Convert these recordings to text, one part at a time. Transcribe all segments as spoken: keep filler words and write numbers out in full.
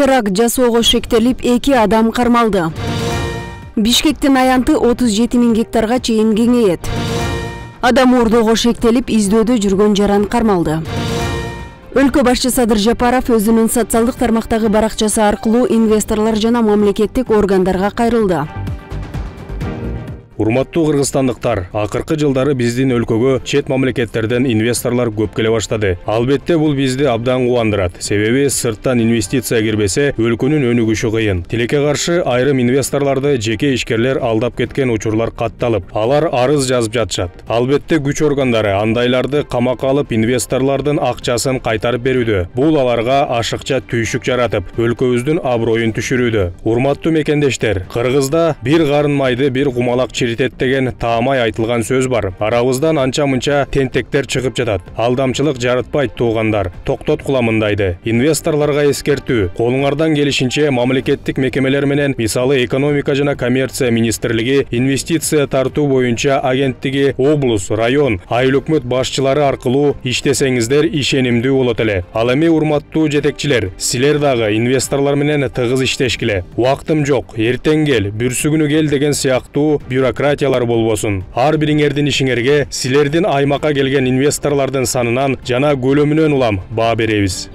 Теракт жасоого шектелип, эки адам кармалды. Бишкектин аянты отуз жети миң гектарга чейин кеңейет. Адам уурдоого шектелип, издөөдө жүргөн жаран кармалды. Өлкө башчысы Садыр Жапаров өзүнүн социалдык тармактагы баракчасы аркылуу инвесторлор жана мамлекеттик органдарга кайрылды. Урматтуу кыргызстандыктар, акыркы жылдары биздин өлкөгө чет мамлекеттерден инвесторлор көп келе баштады. Албетте бул бизди абдан кубандырат. Себеби сырттан инвестиция кирбесе, өлкөнүн өнүгүшү кыйын. Тилекке каршы айрым инвесторлорду жеке ишкерлер алдап кеткен учурлар катталып, алар арыз жазып жатышат. Албетте күч органдары андайларды камакка алып, инвесторлордун акчасын кайтарып берүүдө. Бул аларга ашыкча түйшүк жаратып, өлкөбүздүн аброюн түшүрүүдө. Урматтуу мекендештер, Кыргызда бир карын майды, бир кумалак деген таамай айтылган сөз бар. Арабыздан анча-мынча тентектер чыгып жатат. Алдамчылык жаратпайт туугандар. Токтот куламындайды. Инвесторлорго эскертүү. Колуңардан келишинче мамлекеттик мекемелер менен, мисалы экономика жана коммерция министрлиги, инвестиция тартуу боюнча агенттиги, облус, район, айыл өкмөт башчылары аркылуу иштесеңиздер ишенимдүү болот эле. Ал эми урматтуу жетекчилер, силер дагы инвесторлор менен тыгыз иштешкиле. Убактым жок, эртең кел, бүрсүгүнү кел деген сыяктуу бюрократиялар болбосун. Ар бириңердин ишиңерге силердин аймакка келген инвесторлордун санынан жана көлөмүнөн улам баа беребиз.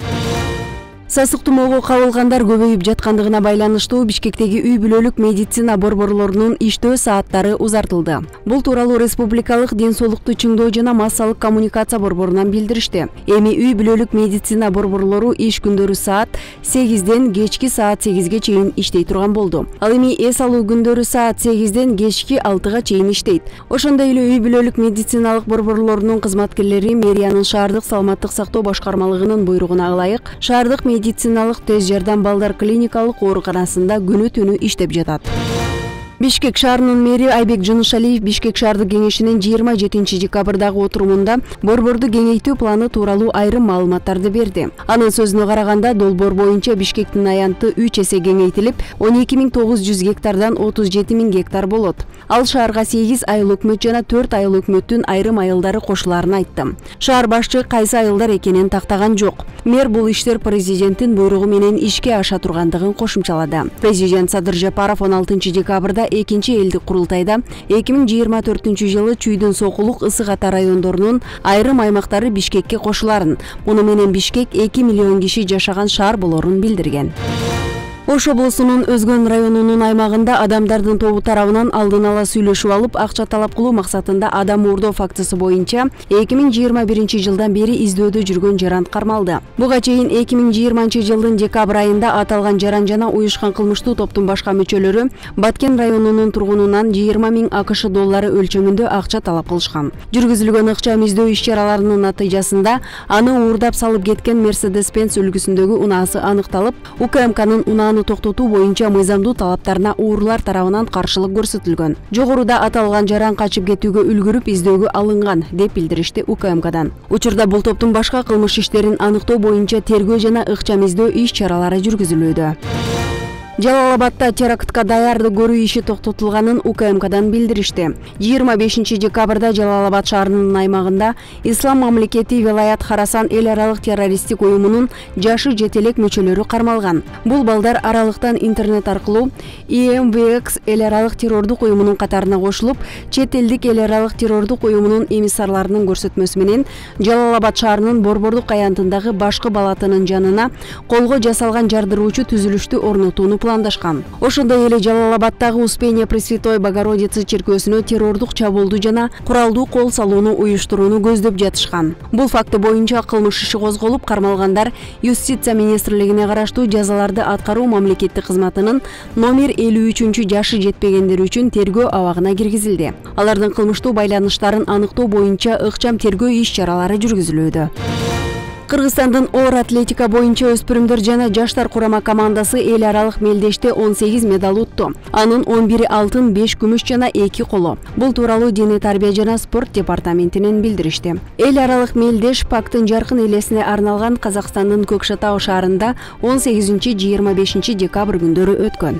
Сасык тумоого кабылгандар көбөйүп жаткандыгына байланыштуу Бишкектеги үй бүлөлүк медицина борборлорунун иштөө сааттары узартылды. Бул тууралуу Республикалык ден соолукту чыңдоо жана массалык коммуникация борборунан билдиришти. Эми үй бүлөлүк медицина борборлору иш күндөрү саат сегизден кечки саат сегизге чейин иштей турган болду. Ал эми эс алуу күндөрү саат сегизден кечки алтыга чейин иштейт. Ошондой эле үй бүлөлүк медициналык борборлорунун кызматкерлери мэриянын шаардык саламаттык сактоо башкармалыгынын буйругуна ылайык шаардык медициналык тез жардам балдар клиникалык ооруканасында күнү түнү иштеп жатат. Бишкек шаарынын мэри Айбек Жынышалиев Бишкек шаардык кеңешинин жыйырма жетинчи декабрдагы отурумунда борборду кеңейтүү планы тууралуу айрым маалыматтарды берди. Анын сөзүнө караганда, долбоор боюнча Бишкектин аянты үч эсе кеңейтилип, он эки миң тогуз жүз гектардан отуз жети миң гектар болот. Ал шаарга сегиз айыл өкмөт жана төрт айыл өкмөттүн айрым айылдары кошуларын айтты. Шаар башчы кайсы айылдар экенин тактаган жок. Мэр бул иштер президенттин буйругу менен ишке аша тургандыгын кошумчалады. Президент Садыр Жапаров он алтынчы декабрда экинчи элдик курултайда эки миң жыйырма төртүнчү жылы Чүйдүн Сокулук ысык ата райондорунун айрым аймактары Бишкекке кошуларын, муну менен Бишкек эки миллион киши жашаган шаар болорун билдирген. Ош облусунун Өзгөн районунун аймагында адамдардын тобу тарабынан алдын ала сүйлөшүп алып, акча талап кылуу максатында адам уурдоо фактысы боюнча эки миң жыйырма биринчи жылдан бери издөөдө жүргөн жаран кармалды. Буга чейин эки миң жыйырманчы жылдын декабрь айында аталган жаран жана уюшкан кылмыштуу топтун башка мүчөлөрү Баткен районунун тургунунан жыйырма миң АКШ доллары өлчөмүндө акча талап кылышкан. Жүргүзүлгөн ыкчам издөө иш-чараларынын натыйжасында аны уурдап салып кеткен Mercedes-Benz үлгүсүндөгү унаасы аныкталып, УКМКнын унааны токтотуу боюнча мыйзамдуу талаптарына уурлар тарабынан каршылык көрсөтүлгөн. Жогоруда аталган жаран качып кетүүгө үлгүрүп издөөгө алынган, деп билдиришти УКМКдан. Учурда бул топтун башка кылмыш иштерин аныктоо боюнча тергөө жана ыкчам издөө иш-чаралары жүргүзүлүүдө. Жалал-Абадта терактка даярдык көрүү иши токтотулганын УКМКдан билдиришти. жыйырма бешинчи декабрда Жалал-Абад шаарынын аймагында Ислам мамлекети Велаят Харасан эл аралык террористтик уюмунун жашы жетелек мүчөлөрү кармалган. Бул балдар аралыктан интернет аркылуу И Эм Ви Экс эл аралык террордук уюмунун катарына кошулуп, чет элдик эл аралык террордук уюмунун эмиссарларынын көрсөтмөсү менен Жалал-Абад шаарынын Борбордук аянтындагы башкы балатынын жанына колго жасалган жардыруучу түзүлүштү орнотууну пландашкан. Ошондой эле Жалал-Абадтагы Успения Пресвятой Богородицы чиркөөсүнө террордук чабуулду жана куралдуу кол салууну уюштурууну көздөп жатышкан. Бул факты боюнча кылмыш иши козголуп, кармалгандар Юстиция министрлигине караштуу жазаларды аткаруу мамлекеттик кызматынын номер элүү үчүнчү жашы жетпегендер үчүн тергөө абагына киргизилди. Алардын кылмыштуу байланыштарын аныктоо боюнча ыкчам тергөө иш-чаралары жүргүзүлүүдө. Кыргызстандын оор атлетика боюнча өспүрүмдөр жана жаштар курама командасы эл аралык мелдеште он сегиз медаль утту. Анын он бири алтын, беш күмүш жана эки коло. Бул тууралуу Дене тарбия жана спорт департаментинен билдиришти. Эл аралык мелдеш Пактын жаркын элесине арналган Казакстандын Көкшетау шаарында он сегизинчи жыйырма бешинчи декабрь күндөрү өткөн.